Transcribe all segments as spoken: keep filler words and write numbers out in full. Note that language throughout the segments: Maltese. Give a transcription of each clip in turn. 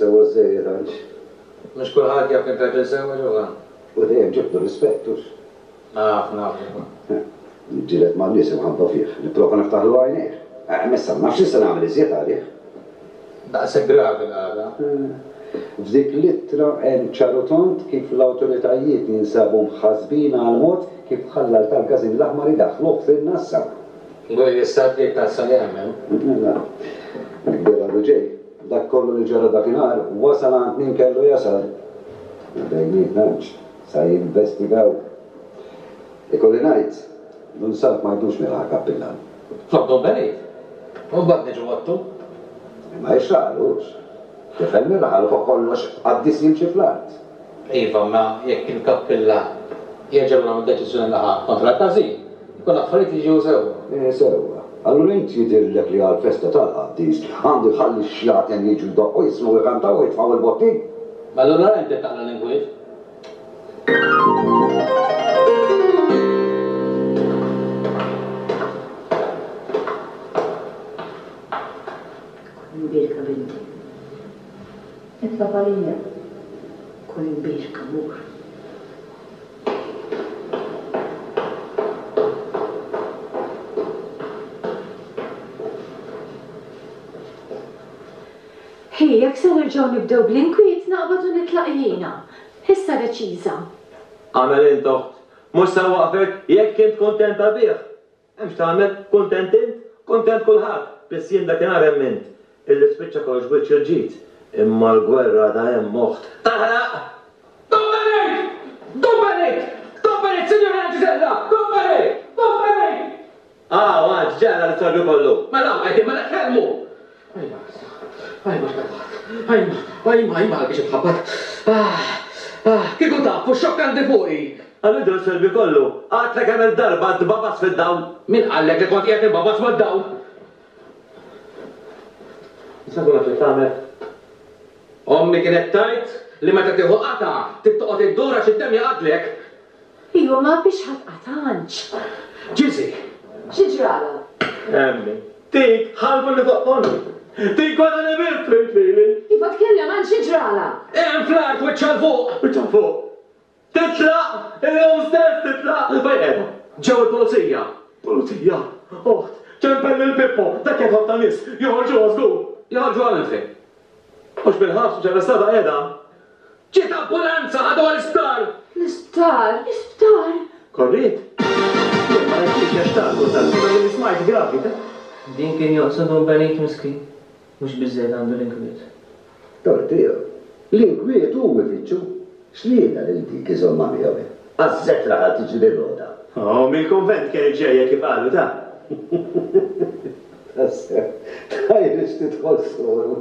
sewwa żejjed għanx. Mhux kulħadd jaf kemm raġel sewwa ġewwa. U dejjem ġibtu rispett hux. Naf, naf. Niġġieled man-nies imħabba fih, nipprova niftaħlu għajnejh. Missa ma nafx x'se nagħmel iżjed għalih. Daqshekk gravi l-qagħda. F'dik l-ittra hemm ċar u tond kif l-awtoritajiet jinsabu mħassbin għall-mod kif ħalla tal-każin l-aħmar idaħħluh fin-nassa. Għol jistaddi tassa li hemm. Mela, il-kbir għadu ġej. Dak kollu li ġara dakinhar wasal għand min kellu jasal. Bejnietna sa jinvestigaw. Ikolli ngħid, Dun Salv ma jdux milha kappillan. Flok Dun Benit. U mbagħad niġu għottu. Ma jixraqlux. Tifel mir-raħal fuq kollox qaddis jimxi fl-art. Iva, ma jekk il-kappillan jerġa' lura mid-deċiżjoni li ħa kontra l-każin, ikun affarijiet jiġu sewwa. Eh, sewwa. Allura int jidhirlek li għall-festa tal-qaddis għandu jħalli x-xjaten jiġu jdoqqu jisimgħu jkantaw u jitfgħu il-botti? Ma allura inti taqla' l-inkwiet. Kun imbierka binti. Itlob għalija. Kun imbierka mur. Hi, jekk se nerġgħu nibdew bl-inkwiet naqbad u nitlaq jiena. Issa deċiża. Għamel int oħt. Mhux se waqfek jekk int kuntenta bih. Hemm x'tagħmel, kuntent int, kuntent kulħadd, biss jien dakinhar emmint illi spiċċa kollox b'wiċċ il-ġid. Imma l-gwerra ta' hemm oħt. Taħraq! Don Benit! Don Benit! Don Benit, Sinjorina Ġiżella! Don Benit! Don Benit! Ah, għad ġara l-istorbju kollu. Mela, qegħdin mela tkellmu. Ajma, ajma x'qatgħat. Ajma, ajma, ajma għalbiex itħabbat. Ah, ah, kieku tafu xokk għandi fuqi. Għallu dan l-istorbju kollu, għadtlek kemm il-darba tbabas fid-dawl. Min qallek li kont qiegħed inbabas mad-dawl? Nista' nkun naf xi tagħmel? Ommi kienet tgħid li meta tieħu qatgħa trid toqgħod iddur għax id-demm jaqgħadlek. Iva, ma biex ħadd qatgħanx. Ġiżi! Xi ġralha? Emmi, tik ħalbu li toqtolni. Tik kważi li biss trid lili. Iva tkellem għal xi ġralha? Hemm fl-art wiċċha 'l fuq. Wiċċha 'l fuq. Titlaq! Illum stess titlaq! Fejn qiegħda? Ġew il-pulizija. Pulizija? Oħt, ċempel lil Pippo, dak jaf ħafna nies, joħorġuha żgur. Joħorġuha minn fejn? Mhux bil-ħabs, mhux arrestata qiegħda. Ġiet ambulanza, ħaduha l-isptar. L-isptar? L-isptar? Korriet? Jien ma rajtix għax ta' kultant, imma milli smajt gravi ta'. Din kien joqsod Dun Benit miskin. Mhux biżżejjed għandu l-inkwiet. Tort tiegħu. L-inkwiet hu ifittxu. X'rieda lil dik iżommha miegħu? Għażżet raħal tiġri bir-rota. Oh, mill-kunvent kienet ġejja kif qalu ta'. Tassew, tgħidx tidħol soru.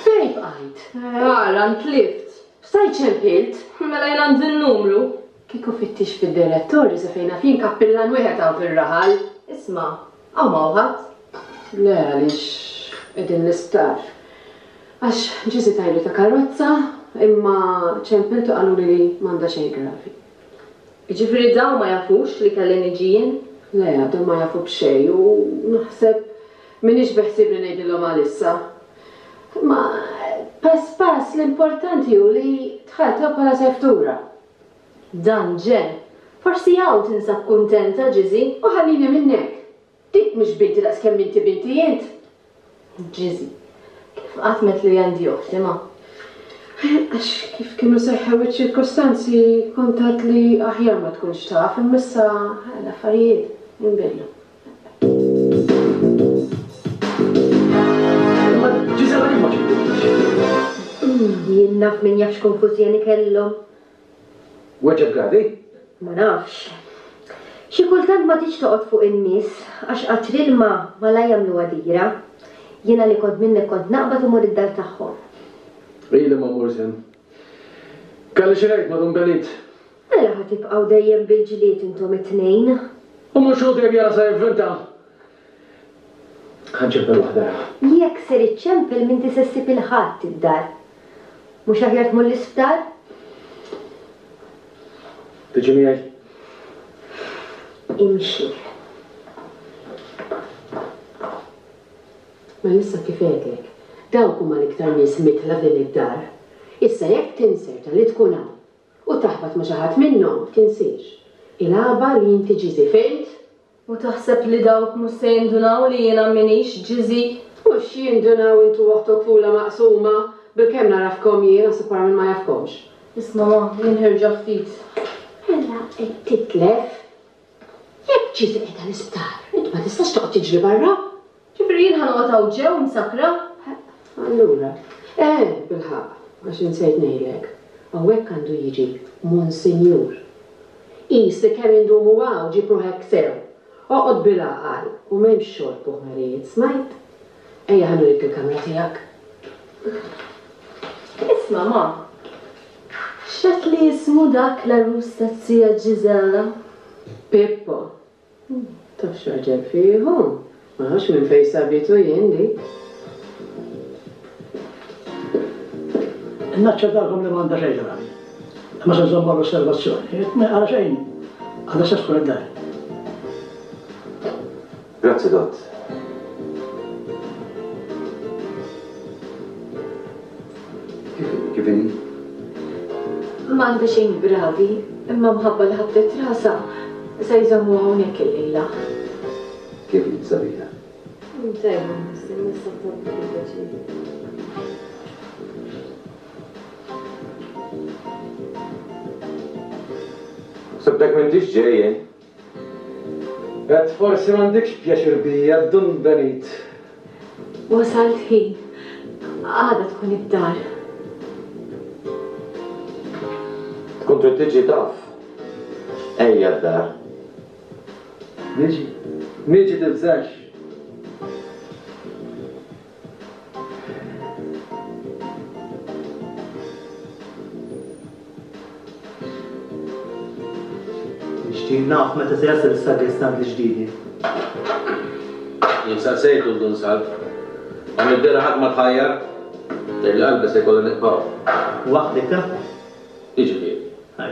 Fejn bqajt? Ara, ntlift. Stajt ċempilt? Mela jien għandi n-numru. Kieku fittix fid-direttorju sa fejn naf jien kappillan wieħed hawn fir-raħal. Isma', hawn m'hawn ħadd. Le, għaliex qegħdin l-isptar. Għax Ġiżi tajlu ta' karozza, imma ċempiltu qaluli li m'għandha xejn gravi. Jiġifieri dawn ma jafux li kelli niġi jien? Le, għadhom ma jafu b'xejn u naħseb m'iniex beħsiebni ngħidilhom għalissa. Imma pass pass l-importanti hu li dħaltha bħala seftura. Dan ġen. Forsi hawn tinsab kuntenta, Ġiżi. U ħallini minnek. Dik mhix binti daqskemm inti binti int. Ġiżi, kif qatt met li għandi oħti ma? Għax kif kienu seħħew iċ-ċirkostanzi kont għedt li aħjar ma tkunx taf, imma issa l-affarijiet inbidlu. Imma Ġiżella kif ma ċempiltix? Jien naf min jaf x'konfużjoni kellhom. Weġġgħet gravi? Ma nafx. Xi kultant ma tridx toqgħod fuq in-nies għax qatr ilma malaj jagħmluha dira. Jiena li kont minnek kont naqbad u mur id-dar tagħhom. Ili ma mmur żmien. Kelli xi ngħid ma' Dun Benit. Mela ħa tibqgħu dejjem bil-ġlied intom it-tnejn. U mhux hu dejjem jara sa jivvinta. Ħa nċempel waħda ra. Jekk ser iċċempel m'inti se ssib 'il ħadd id-dar. Mhux aħjar tmur l-isptar? Tiġi miegħi? Imxi. Ma issa kif għedlek, dawk huma l-iktar nies mitla f'din id-dar. Issa jekk tinserta li tkun hawn u taħbat ma' xi ħadd minnhom, tinsiex. Il-għaba li inti Ġiżi, fhimt? U taħseb li dawk mhux se jindunaw li jiena m'iniex Ġiżi? Mhux jindunaw intu oħtok fula maqsuma, bilkemm narafkom jien għax barra minn ma jafkomx. Isma' ma, jien ħirġa ftit. Mela qed titlef. Jekk Ġiżi qiegħda l-isptar, int ma tistax toqgħod tiġri barra. Ġifieri jien ħa noqgħod hawn ġew msakra? Allura, eh, bilħaqq, għax insejt ngħidlek. Hawnhekk għandu jiġi Monsinjur. Qis li kemm indumu hawn ġib ruħek sew. Oqgħod bil-għaqal u m'hemmx xorb u ħmerijiet, smajt? Ejja ħa nurik il-kamra tiegħek. Isma' ma. X'għedt li jismu dak l-għarus taz-zija Ġiżella? Pippo. Taf x'raġel fih hu? Ma nafx minn fejn sabitu jien dik. Naċċertakom li m'għandha xejn gravi. Imma se nżommu l-osservazzjoni. Għala xejn, għadha se tkun id-dar. Grazzi, Dott. Kif inhi? M'għandha xejn gravi, imma mħabba li ħabtet rasha se jżommu hawnhekk illejla. Kif inhi, Sabina? Tajba, nista' tabbi. Sabtek m'intix ġej jien. Et forsi m'għandekx pjaċir bija, Dun Benit. Wasalt ħin. Għada tkun id-dar. Tkun trid tiġi taf. Ejja d-dar. Niġi. Niġi tibżax. Nixtieq naf meta se jasal is-sagristan l-ġdidi. Jien saqsejtu l-Dun Salv. Għam id-dera ħadd ma tħajjar, tgħid li qalbi se jkollu nibqgħu. Waħdek ta? Jiġifieri.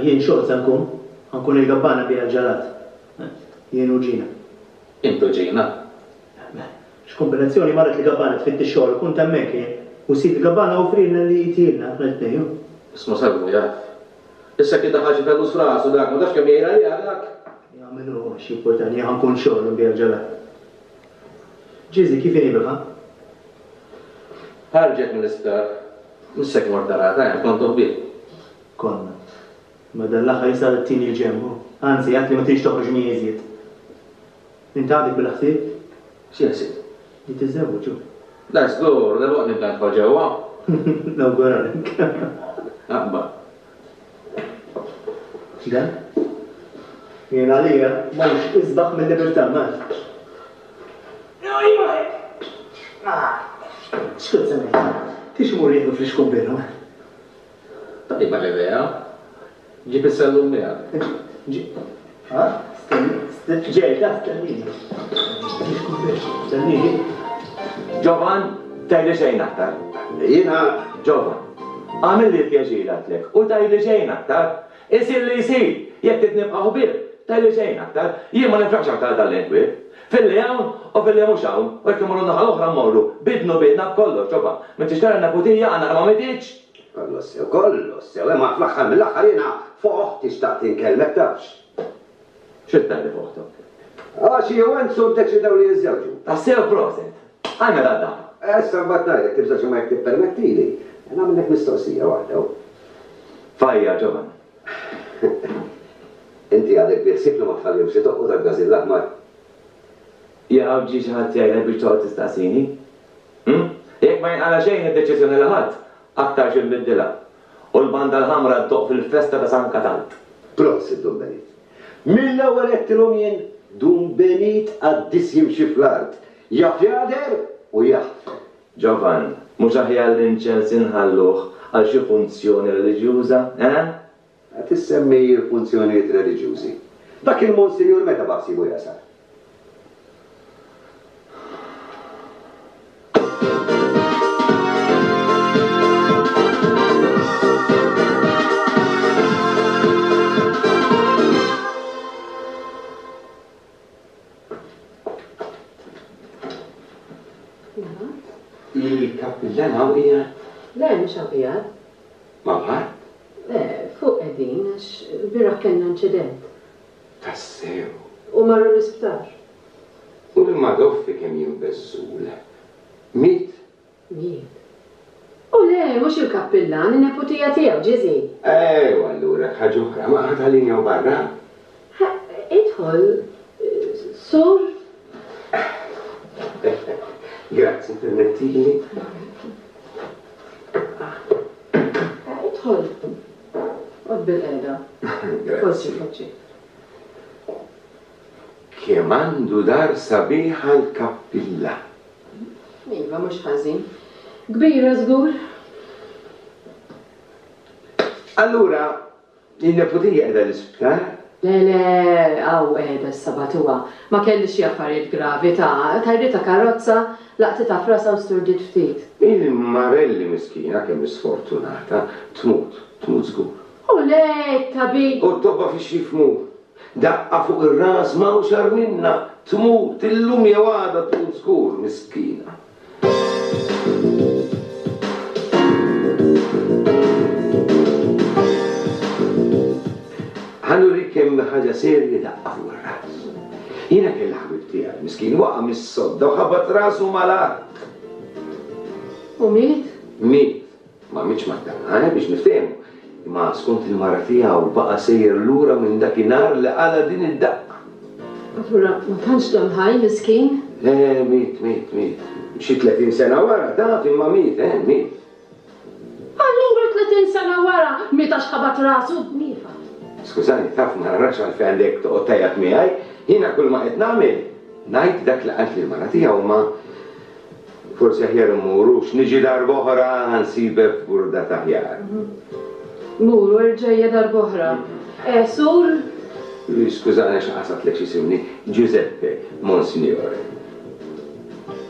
Jien xogħol se nkun, ħankun il-gabbana biha l-ġalat. Jien u Ġina. Intu Ġina? X'kombinazzjoni marret li gabbana tfitti xogħol, kunt hemmhekk jien. U sid il-gabbana offrilna li jtilna aħna l-tnejn. Isma' Salvu jaf. Issa kien daħal xi fellus f'rasu dak, ma tafx kemm jgħir għaliha dak. Jagħmel hu xi importanti, ħankun xogħol nbiha l-ġalat. Ġiżi, kif inhi bilħaqq? Ħarġet mill-isptar. Missek mort tarata, hemm kontu ħbieb. Konna. Ma dan l-aħħar issa t-tieni l-ġemmu. Anzi, għad li ma tridx toħroġ mi iżjed. Int għadek bil-ħsieb? Xi ħsieb? Li tiżżewweġ hu. La żgur, dalwaqt nibda nidħol ġewwa. Nawguralek. Aqba. Dan? Jien għalija m'hawnx isbaħ mill-libertà, ma. X'kont se ngħid? Tix imur jieħdu fl-ixkumbiru? Tajba l-idea. Ġib is-sellum miegħek. Ha? Stenni, ġej, ta' stennini. Stennini. Ġovan, tgħidli xejn aktar. Jiena Ġovan, għamil li pjaċir għatlek u tgħidli xejn aktar. Isir li jsir, jekk trid nibqa' ħbieb, tgħidli xejn aktar. Jien ma nifraħx aktar dal-inkwiet. Filli hawn u filli mhux hawn, u jekk imorru naħa l-oħra mmorru, bidnu bidna b'kollox, Ġovan. M'intix tara neputija għandna ma mitx? Kollox sew, kollox sew, imma fl-aħħar mill-aħħar jiena fuq oħti xtaqt inkellmek tafx. Xi tgħidli fuq oħtok? Għax hi u Enzo ddeċidew li jiżżewġu. Tassew proset. Għajna dadda. Issa mbagħad ngħidlek tibżax imma jekk tippermettili. Nagħmellek mistoqsija waħda. Fajja, Ġovan. Inti għadek biħsieb li ma tħallihomx idoqqu dak-gażin l-aħmar. Jaqaw ġie xi ħadd jgħidlek biex toqgħod tistaqsini? Hm? Jekk ma jinqala xejn id-deċiżjoni li ħadd, aktar xi nbiddilha. U l-banda l-ħamra ddoqq fil-festa ta' San Katalt. Prosit, Dun Benit. Mill-ewwel għedtilhom jien Dun Benit għaddis jimxi fl-art. Jaf jagħder u jaħfer. Ġovan, mhux aħjar l-inċens inħalluh għal xi funzjoni reliġjuża, eh? Qed issemmi l-funzjonijiet reliġjużi. Dak il-Monsinjur meta baħsibu jasal? mhux hawn qiegħed. M'hawn ħadd? Le, fuq qegħdin għax ilbieraħ kellna inċident. Tassew? U marru l-isptar. U l-Madoffi kemm jien beżżul. Miet? Miet. U le, mhux il-kappillan, in-neputija tiegħu, Ġiżi. Ejwa allura ħaġa oħra, ma ħadd ħallini hawn barra. Idħol, sur. Grazzi, permettili. Idħol. Qod bil-qeda. Grazzi. Poġġi, poġġi. Kemm għandu dar sabiħa l-kappilla. Iva, mhux ħażin. Kbira żgur. Allura, in-neputija qiegħda l-isptar? Le, le, hawn qiegħda s-sabatuha. Ma kellix xi affarijiet gravi ta' tajritha karozza, laqtitha f'rasha u sturdiet ftit. Il-Marelli miskina kemm sfortunata, tmut, tmut żgur. U le, tabib. U t-tobba fiex jifhmu. Daqqa fuq ir-ras ma hawnx agħar minnha, tmut illum jew għada tmut żgur, miskina. Ħa nurik kemm ħaġa serja daqqa fuq ir-ras. Jiena kelli ħabib tiegħi, miskin waqa' mis-sodda u ħabat rasu mal-art. U miet? Miet. Ma mietx mad-daqqa, eh, biex niftehmu. Imma skont il-mara tiegħu baqa' sejjer lura minn dakinhar li qala din id-daqqa. Allura ma tantx dam ħaj, miskin? Le, miet, miet, miet. Xi tletin sena wara, taf imma miet, eh, miet. Allura tletin sena wara miet għax ħabat rasu b'niefa. Skużani, taf ma narax għalfejn għandek toqgħod tgħajjat miegħi, jiena kull ma qed nagħmel ngħid dak li qalt li l-mara tiegħu ma forsi aħjar immurux, niġi darb'oħra nsibek f'burda aħjar. Mur, erġejja darb'oħra. Eh, sur? Skużani għax qasatlek x'isimni, Giuseppe Monsignore.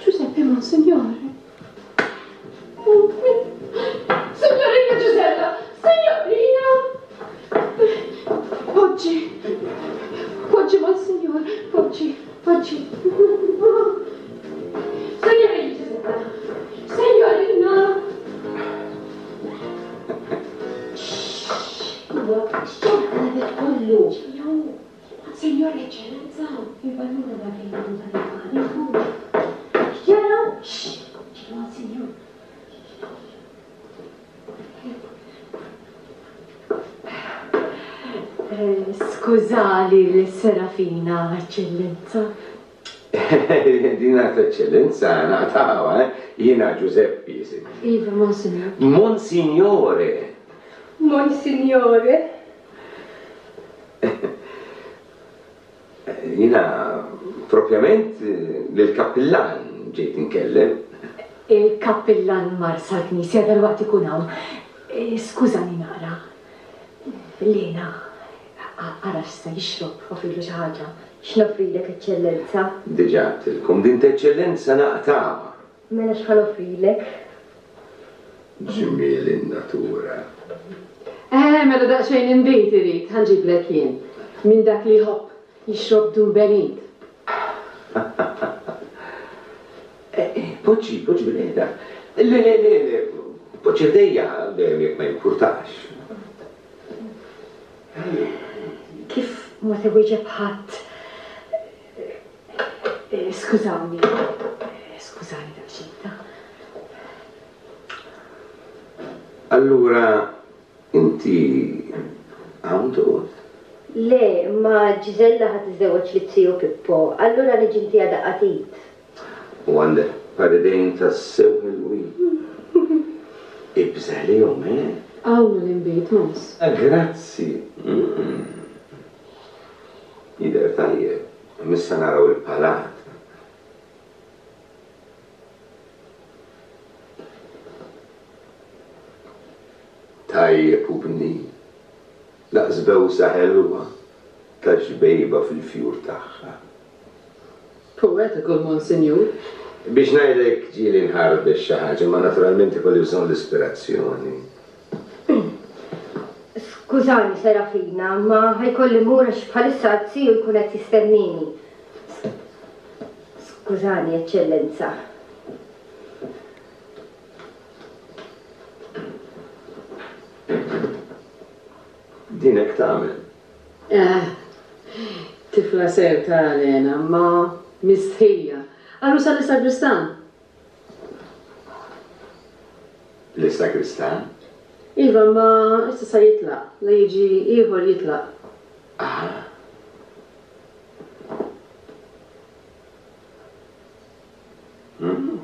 Giuseppe Monsignore? Signorina Gisella! Signorina! Poġġi! Poġġi, Monsignor! Poġġi, poġġi! Signorina Gisella! Signorina! X'ġara kollu? Signor Eccellenza! Il-balluna ma fejn dan X'ġara? Monsignor. Skużali l-Serafina, Eccellenza. Dina Eccellenza naqtawa, eh? Jiena Giuseppe jisimni. Iva, Monsignor. Monsignore. Monsignore. Jiena propjament lill-kappillan ġejt inkellem. Il-kappillan mar sal-knisja dalwaqt ikun hawn. Skużani naqra. Lena, ara x'sa jixrob, offrilu xi ħaġa. X'noffrilek, Eċċellenza? Diġà għedtilkom, din t'Eċċellenza naqtawha. Mela x'ħa noffrilek? Ġmiel in-natura. Eh, mela daqsxejn inbid irid, ħa nġiblek jien. Minn dak li jħobb jixrob Dun Benit. Poġġi, poġġi bil-qiegħda. Le, le, le, le, poġġi ħdejja, dejjem jekk ma jimpurtax. Kif ma tewieġeb ħadd? Skużawni, skużani daqsxejn ta'. Allura, inti hawn toqgħod? Le, ma Gisella ħa tiżżewweġ lit ziju Pippo, allura niġi ntiha daqqa t'id. U għandek paridejn tassew ħelwin. Ibża' lihom, eh? Hawn l-inbid, Mons. Grazzi. Jidher tajjeb, issa naraw il-palat. Tajjeb u bnin. Laqs bewsa ħelwa ta' xbejba fil-fjur tagħha. Poetiku l-Monsinjur. Biex ngħidlek ġieli nħarbex xi ħaġa, ma naturalment ikolli bżonn l-ispirazzjoni. Skużani, Serafina, ma ħajkolli mmur għax bħalissa z-ziju jkun qed jistennini. Skużani, Eċċellenza. Din hekk tagħmel. Eh, tifla sew tara Lena, ma mistħija. Għarusa l-sagristan. L-sagristan? Iva, ma issa sa jitlaq. La jiġi ieħor jitlaq. Ah. Mm.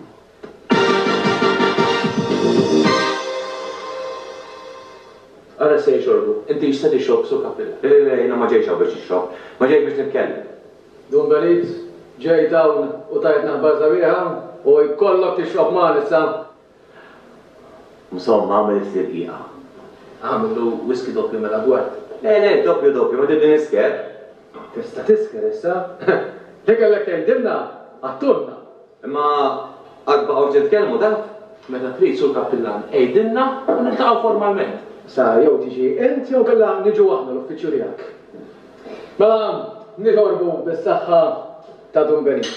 Ara se jxorbu, inti x'se tixrob Sur Kappilla? Le, le, jiena ma ġejtx hawn biex nixrob, ma ġejt biex nitkellem. Dun Benit, ġejt hawn u tajtna aħbar sabiħa u jkollok tixrob magħna issa. Insomma, għamel is-sirqiqa. Għamillu whisky doppju mela gward. Le, le, doppju doppju, ma tibdi nisker. Tista' tisker issa? Li kellek tgħidilna, għattulna. Imma għad baqgħu titkellmu taf? Meta trid Sur Kappillan, għidilna u niltaqgħu formalment. Sa jew tiġi int jew kellha niġu aħna l-uffiċċju tiegħek. Mela nitolbu bis-saħħa ta' Dun Benit.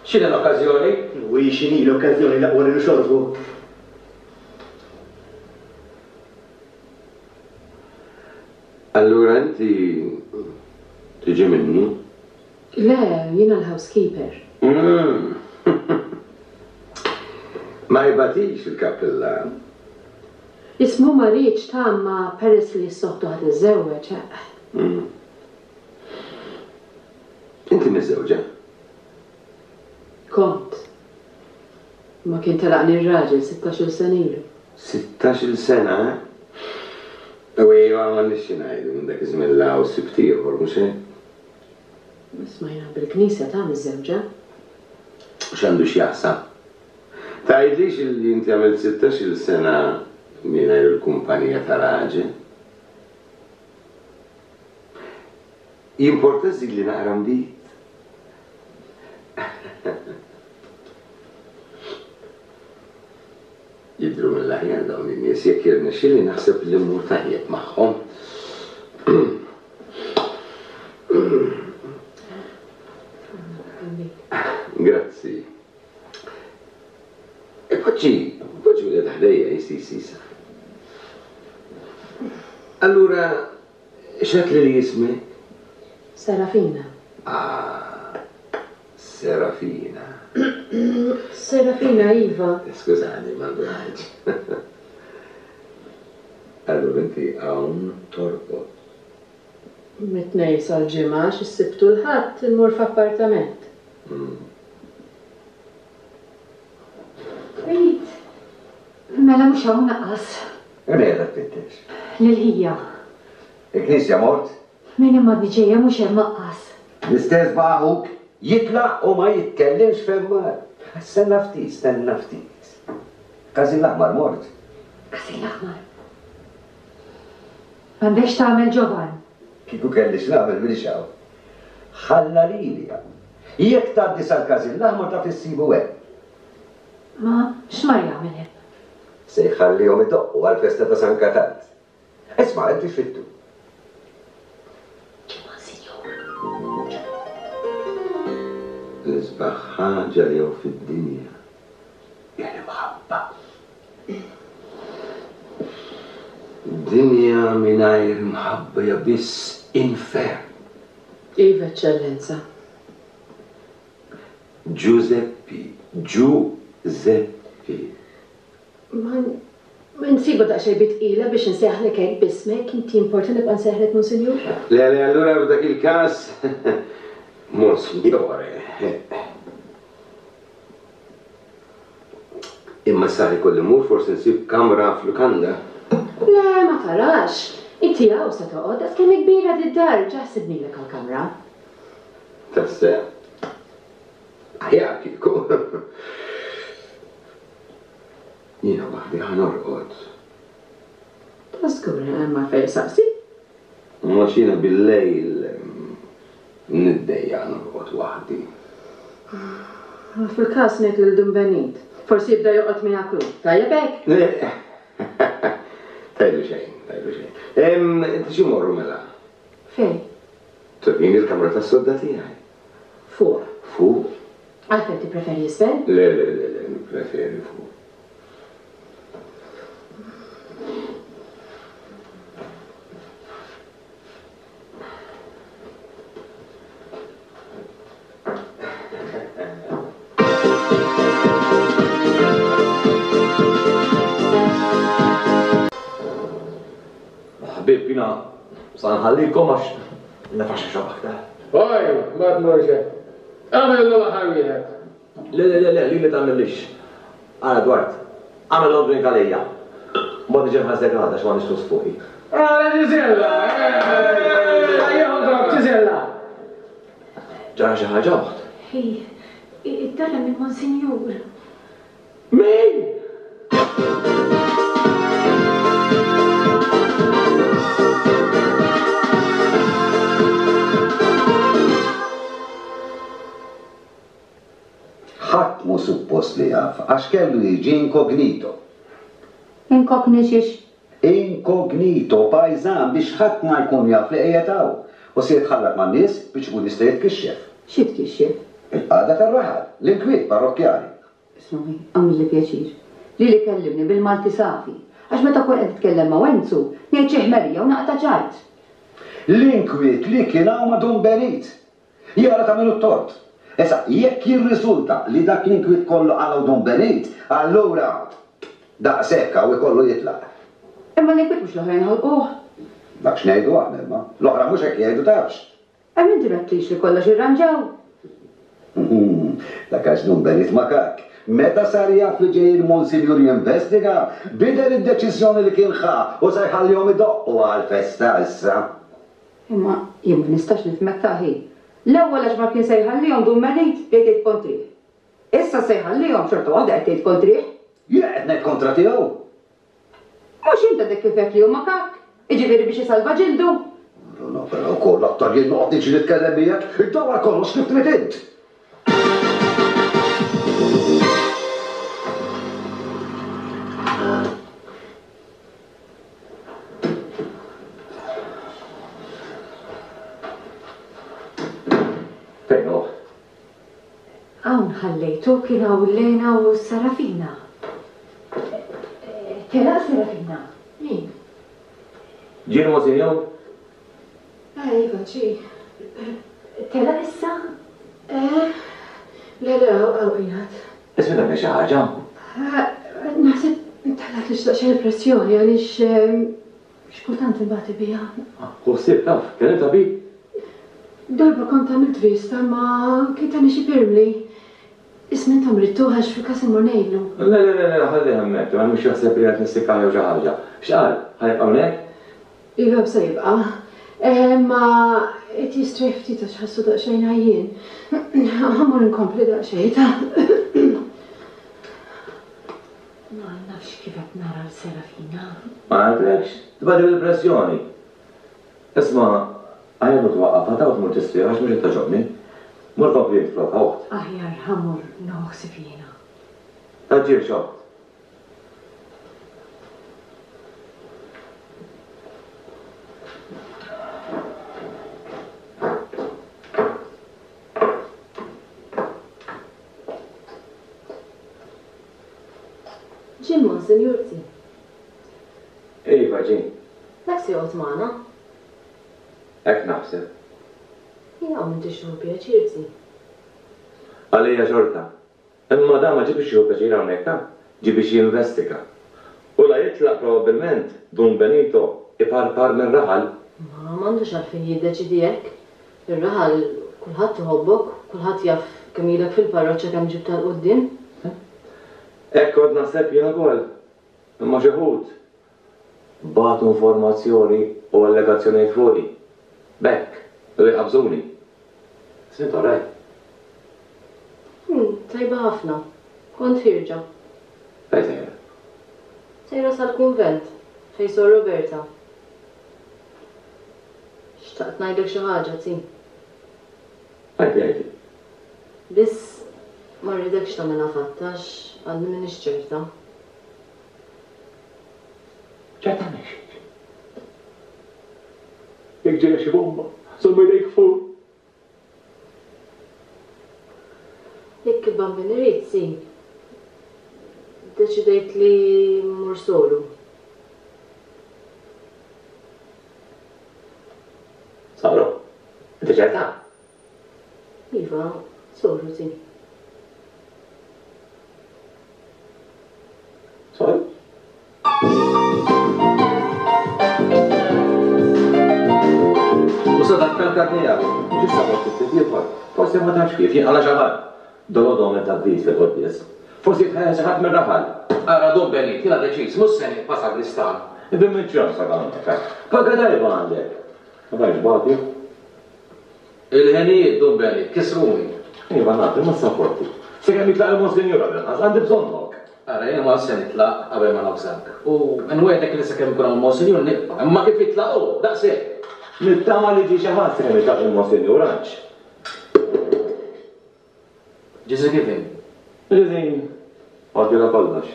X'inhi l-okkażjoni? U hi x'inhi l-okkażjoni l-aqwa li nixorbu. Allura inti tiġi minnu? Le, jiena l-housekeeper. Mm. Ma jbatix il-kappillan. Ismu ma rridx ta' ma peress li s-soħtu ħad iżżewweġ. Mm. Inti miżżewġa? Kont. Ma kien telaqni r-raġel sittax-il sena ilu. Sittax-il sena, eh? U iva, ma nix xi ngħidu minn dak iż-żmien 'l hawn sibt ieħor, mhux hekk? Isma' jiena bil-knisja ta' miżżewġa. U x'għandu x'jaqsam? Tgħidlix illi inti għamilt sittax-il sena mingħajr il-kumpanija ta' raġel? Jimporta żidli naqra nbid? Jidhru mill-aħjar dawn in-nies, jekk jirnexxieli naħseb li mmur tajjeb magħhom. Grazzi. E poġġi, poġġi wieħed ħdejja, jisi, sisa. Allura, x'għedt li li jismek? Serafina. Ah, Serafina. Serafina, iva. Skużani, ma ndunajtx. Allura inti hawn torqod. Mit-tnejn sal-ġimgħa għax is-Sibt u l-Ħadd immur f'appartament. Mm. Benit, mela mhux hawn naqqas. Imma qiegħda tfittex. Lil ħija. Il-knisja mort? Min imma għadni ġejja mhux hemm aqqas. L-istess baqa' ħuk jitlaq u ma jitkellimx fejn mar. Stenna ftit, stenna ftit. Każin l-Aħmar mort. Każin l-Aħmar. M'għandekx tagħmel Ġovan. Kieku kelli x'nagħmel minix hawn. Ħalla lili hawn. Jekk tgħaddi sal-Każin l-Aħmar taf issibu hemm. Ma x'mar jagħmel hemm? Se jħallihom idoqqu għall-festa ta' San Katalt. Isma', inti x'fittu? L-isbaħ ħaġa li hawn fid-dinja hija l-imħabba. Dinja mingħajr imħabba hija biss infern. Iva, Eċċellenza. Giuseppi, Giuseppi. Ma ma nsibu daqsxejn bi tqila biex nsejħlek hekk b'ismek, inti importa nibqa' nsejħlek Monsinjur? Le, le, allura f'dak il-każ Monsignore. Imma sa ikolli mmur forsi nsib kamra f'lukanda. Le, ma tarax. Inti hawn se toqgħod, daqs kemm kbira d-dar, ġa ħsibnilek għall-kamra. Tassew. Aħjar kieku. Jiena waħdi ħa norqod. Ta' żgur hemm għalfejn saqsi. Ma xina bil-lejl niddejja norqod waħdi. Fil-każ ngħid lil Dun Benit. Forsi jibda joqgħod miegħek hu. Tajjeb hekk? Tajlu xejn, tajlu xejn. Em, inti xi morru mela? Fejn? Turini l-kamra tas-sodda tiegħi. Fuq. Fuq? Għalfejn tippreferi isfel? Le, le, le, le, nippreferi fuq. Ħbieb, jiena sa nħallikom għax nafax xi aktar. Oj, ma tmurx hekk. Agħmel l-aħħar wieħed. Le, le, le, le, li tagħmillix. Ara Dwart, għamel long drink għalija. Mod niġi nħassek għada x'ma nixtrus fuqi. Ara Ġiżella! Ejja, Ġiżella! Ġara xi ħaġa oħt. Ej, id-dara minn Monsinjur. Min? Ħadd mhu suppost li jaf għax kellu jiġi inkognito. Inkognixix? Inkognito, pajżan biex ħadd ma jkun jaf li qiegħed hawn. U se jitħallat man-nies biex ikun jista' jitkixxef. Xi tkixxef? Il-qagħda tar-raħal, l-inkwiet parrokkjali. Ismagħni, għamilli pjaċir. Lili kellimni bil-Malti safi. Għax meta kun qed titkellem ma' Wenzu, ngħid xi ħmerija u naqta' ċajt. L-inkwiet li kien hawn ma' Dun Benit. Jara tagħmlu t-tort. Issa, jekk jirriżulta li dak l-inkwiet kollu qalgħu Dun Benit, allura daqshekk hawn ikollu jitlaq. Imma l-inkwiet mhux l-oħrajn ħolquh. Dak x'ngħidu aħna imma. L-oħra mhux hekk jgħidu tafx. Hemm inti m'għedtlix li kollox irranġaw. Dak għax Dun Benit ma kak. Meta sar jaf li ġej il-Monsinjur jinvestiga, bidel id-deċiżjoni li kien ħa u se jħallihom idoqqu għal-festa issa. Imma jien ma nistax nifhmek taħi. L-ewwel għax ma kien se jħallihom Dun Benit bdejt tgħid kontrih. Issa se jħallihom xorta waħda qed tgħid kontrih. Jien qed ngħid kontra tiegħu. Mhux inta dik kif qed li huma kak, jiġifieri biex isalva ġildu. No, però wkoll aktar jien noqgħod niġi nitkellem miegħek, iddawwar kollox kif trid int. Fejn hu? Hawn ħallejtu kien hawn Lena u Serafina. Telaq Serafina. Min? Ġie l-Monsinjur? Eh, iva, ġie. Telaq issa? Eh, le, le, hawn qiegħed. Ismi tagħmel xi ħaġa? Naħseb telaq li x'daqsxejn pressjoni għaliex x'kultant inbati biha. Hu ħsieb taf, kellim tabib? Darba kont għamilt vista ma kien tani xi pirmli. Ismi intom ridtuh għax fil-każ immur ngħidlu. Le, le, le, le, ħalli hemmhekk, ma mhux jaħseb li qed nissikka jew xi ħaġa. X'qal? Ħa jibqa' hawnhekk? Iva, se jibqa'. Ma qed jistrieħ ftit għax ħassu daqsxejn għajjien. Ħa mmur inkompli daqsxejn ta'. Ma nafx kif qed nara l-Serafina. Ma nafx, tibgħati bil-pressjoni. Isma', aħjar mur twaqqafha ta' u tmur tistrieħ għax mhux qed togħġobni. Mur kompli int flokha oħt. Aħjar ħa mmur nieħu ħsieb jiena. Taġġilx oħt. Ġie l-Monsinjur zi. Iva, ġie. Dak se joqgħod magħna. Hekk naħseb. Jien hawn m'intix tieħu pjaċir zi. Għalija xorta. Imma dan ma ġie biex jieħu pjaċir hawnhekk ta' ġie biex jinvestiga. U la jitlaq probabbilment Dun Benito iparpar minn raħal. Ma m'għandux għalfejn jiddeċidi hekk. Ir-raħal kulħadd iħobbok, kulħadd jaf kemm ilek fil-parroċċa kemm ġibtha 'l quddiem. Hekk kont naħseb jien ukoll. Imma xi wħud bagħtu informazzjoni u allegazzjonijiet fuqi. B'hekk, u jqabżuni. Sint oraj. Hmm, tajba ħafna. Kont ħirġa. Fejn sejra? Sejra sal-kunvent, fejn Sor Roberta. Xtaqt ngħidlek xi ħaġa, zi. Għajdi, għajdi. Biss ma rridekx tagħmilha fatta għax għadni m'iniex ċerta. Ċerta mhix. Jekk ġejja xi bomba, żomm idejk fuq. Jekk il-Bambin irid, si. Deċidejt li mmur solu. Solu? Inti ċerta? Iva, solu, si. Solu? Thank you. Dak miegħek. Ġista mort ftit ieħor. Forsi ma tafx kif jinqala xi ħadd. Dolodu għamel tgħaddis fil-quddies. Forsi jitħajjar xi ħadd mir-raħal. Ara Dun Benit, jiena deċiż, mhux se nibqa' sagristan. Ibn miċ-ċans għandek. Paga tajba għandek. Ma tafx bati. Il-ħenijiet Dun Benit, kisruni. Iva naf, imma sapporti. Sakemm jitlaq il-Monsinjur għall-inqas, għandi bżonnok. Ara, jiena ma se nitlaq qabel ma navżak. U nwegħdek li sakemm ikun hawn il-Monsinjur nibqa', imma kif jitlaq hu, daqshekk. Nittama li ġie xi ħadd sakemm jitlaq il-Monsinjur għax. Ġiżi kif inhi? Ġiżi, għaddilha kollox.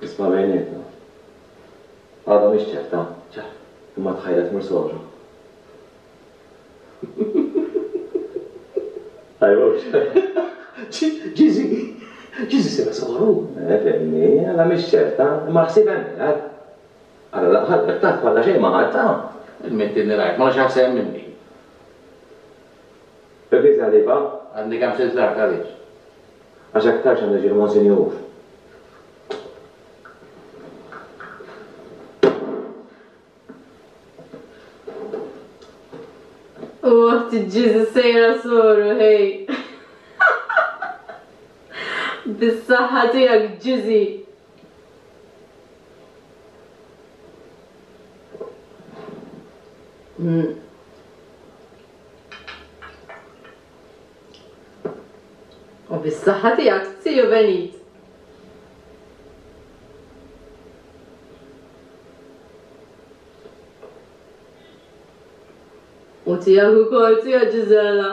Isma' bejnietna. Għadha mhix ċerta. Imma tħajret tmur soru. Tajbux. Ġiżi, Ġiżi sira soru. Eh, fimni, għadha mhix ċerta, imma ħsieb hemm qiegħed. Ara laqħalqek taf bħala xejn ma ħadta. Il-mittinni rajt, ma nafx ħadd minni. Fil-knisja ħlifa? Għadni kemm silt l-art għaliex? Għax aktarx għandu jiġi l-Monsinjur. U oħti Ġiżi sejra soru, hej. Bis-saħħa tiegħek Ġiżi. U bis-saħħa tiegħek Ziju Benit. U tiegħek ukoll tija Ġiżella.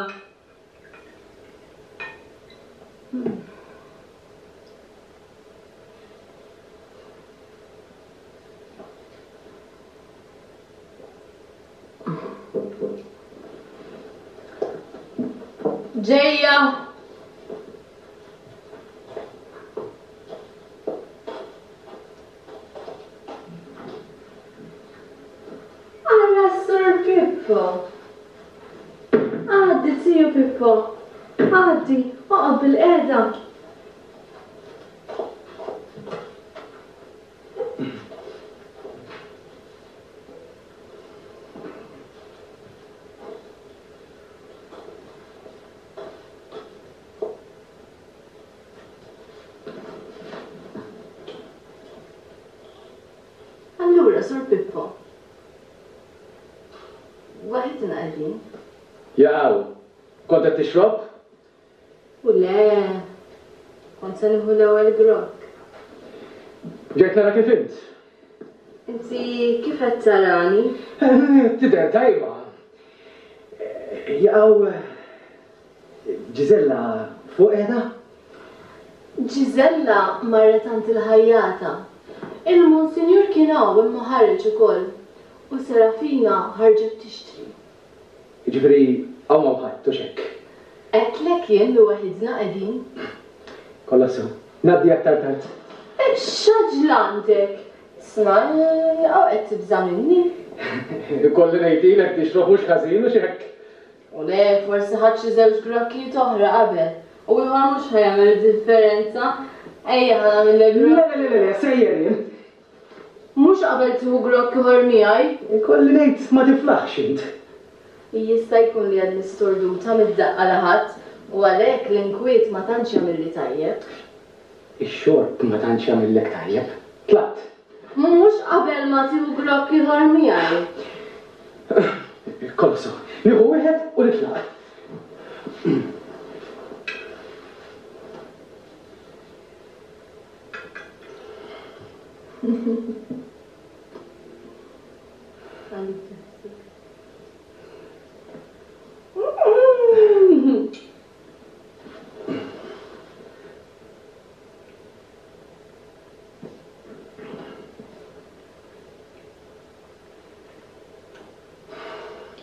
Ġejja! Ara Sur Pippo! Għaddi, Ziju Pippo! Għaddi, oqgħod bil-qiegħda! Allura, Sur Pippo, waħidna qegħdin. Jaqaw, kont qed tixrob? U le, kont se nieħu l-ewwel grokk. Ġejt nara kif int. Inti kif qed tarani? Tidher tajba. Jaqaw, Ġiżella fuq qiegħda? Ġiżella marret għand il-ħajjata. Il-Monsinjur kien hawn imma ħareġ ukoll. U Serafina ħarġet tixtri. Jiġifieri hawn m'hawn ħadd u x'hekk. Għedtlek jien li waħidna qegħdin. Kollha sew. Ngħaddi aktar tard. X'għaġla għandek? Isma' hawn qed tibża' minni. Ikolli ngħidilek tixrob mhux ħażin u x'hekk. U le, forsi ħadt xi żewġ grokkijiet oħra qabel. U ieħor mhux ħa jagħmel differenza. Ejja ħa nagħmillek grokk. Le, le, le, le, sejjer jien. Mhux qabel tieħu grokk ieħor miegħi. Ikolli ngħid ma tiflaħx int. Jista' jkun li għadni storduta mid-daqqa li ħadt u għalhekk l-inkwiet ma tantx jagħmilli tajjeb. Ix-xorb ma tantx jagħmillek tajjeb. Tlaqt. Mhux qabel ma tieħu grokk ieħor miegħi. Kollox sew. Nieħu wieħed u nitlaq.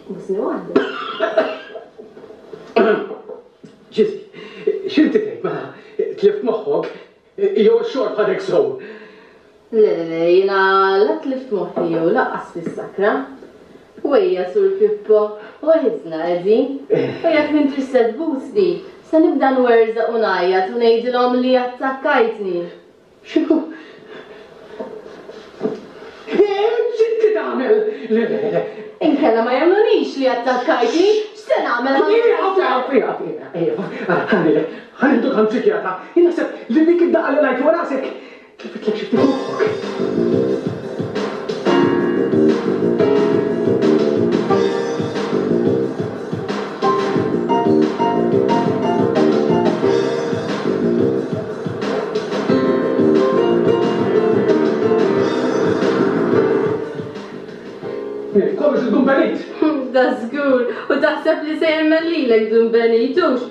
Busni waħda. Ġiżi, x'inti tgħid ma tlift moħħok jew ix-xorb ħadek sew? Le, le, le, jiena la tlift moħħi jew laqqas fis-sakra. Wejja, Sur Pippo, waħidna qegħdin. U jekk m'intix se tbusni, se nibda nwerżaq u ngħajjat u ngħidilhom li attakkajtni. X'inhu? X'inti tagħmel? Le, le, le. Inkella ma jemmnunix li attakkajtni, x'se nagħmel ħa ħa nieħduk għand psikjatra. Jien naħseb li dik id-daqqa li ngħid fuq rasek tlifitlek xi ftit moħħok. Kollox il-Dun Benit! Da żgur, u taħseb li se jemmen lilek Dun Benit, hux?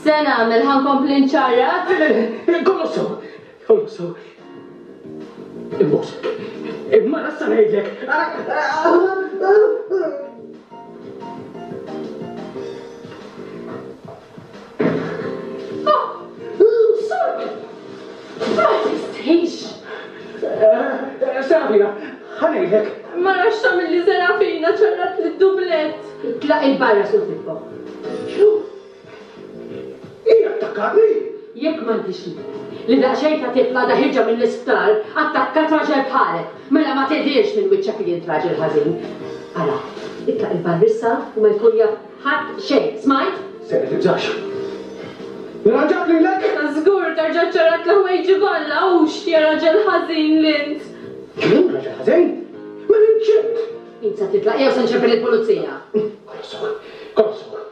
Se nagħmel ħa nkompli nċarrat? Kollox sew, kollox sew. Imbosek, imma nassa ngħidlek. Ma tistħix! Serafina, ħa ngħidlek. Ma nafx tagħmilli Serafina ċarrat lid-dublett. Itlaq il-barra Sur Pippo. X'inhu? Hija attakkatni? Jekk m'għandix li daqsxejn ta' tifla għadha ħirġa mill-isptar, attakkat raġel bħalek. Mela ma tidhirx minn wiċċek li int raġel ħażin. Ara, itlaq il-barra issa u ma jkun jaf ħadd xejn. Smajt? Sera tibżax. Nirranġak lilek? Żgur terġa' ċarrat l-ħwejġi kollha hux ja raġel ħażin l-int. Jien raġel ħażin? Mela inċint! Int se titlaq jew se nċempel il-pulizija. Kollox sew, kollox sew.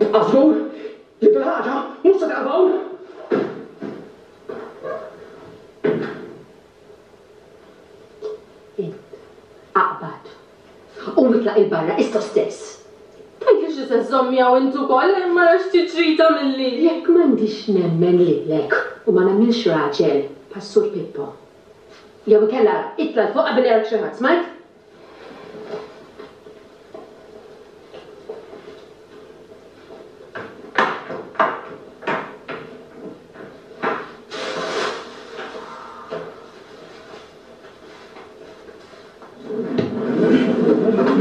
Ibqa' żgur li bil-ħaġa mhux se taqaf hawn. Int aqbad u itlaq il-barra issa stess. Tgħidlix li se żżomm miegħu int ukoll imma nafx tiċrita milli. Jekk m'għandix nemmen lilek u ma nagħmilx raġel bħas-Sur Pippo. Jew inkella itla' 'l fuq qabel jarak xi ħadd, smajt?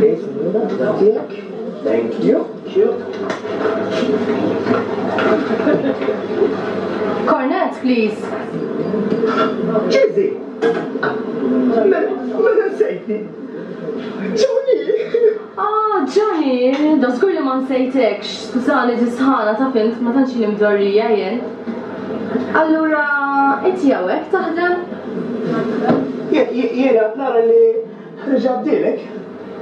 Okay, signora, tiegħek. Thank you. Cornet, please. Ġizi! Mela nsejtni. Johnny! Ah, Johnny, da żgur li ma nsejtekx. Skużani tisħana ta' fint ma tantx li mdorrija jien. Allura, inti hawnhekk taħdem? Jiena nara li reġa' bdielek.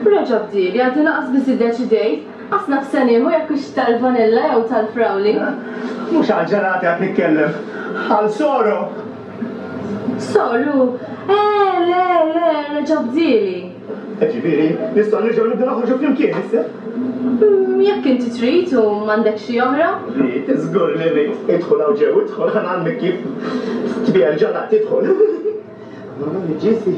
Reġa' bdieli, għadni naqas biss iddeċidejt. Qas naf se nieħu jekk hux tal-vanilla jew tal-frawli. Mhux għal ġenati qed nitkellem, għal soru. Soru? Eh, le, le, reġa' bdieli. Ġifieri, nistgħu nerġgħu nibdew noħorġu flimkien issa? Jekk inti trid u m'għandek xi oħra? Rrid, żgur li rrid. Idħol hawn ġew, idħol ħa ngħallmek kif tbigħ il-ġenat, idħol. Ġisi.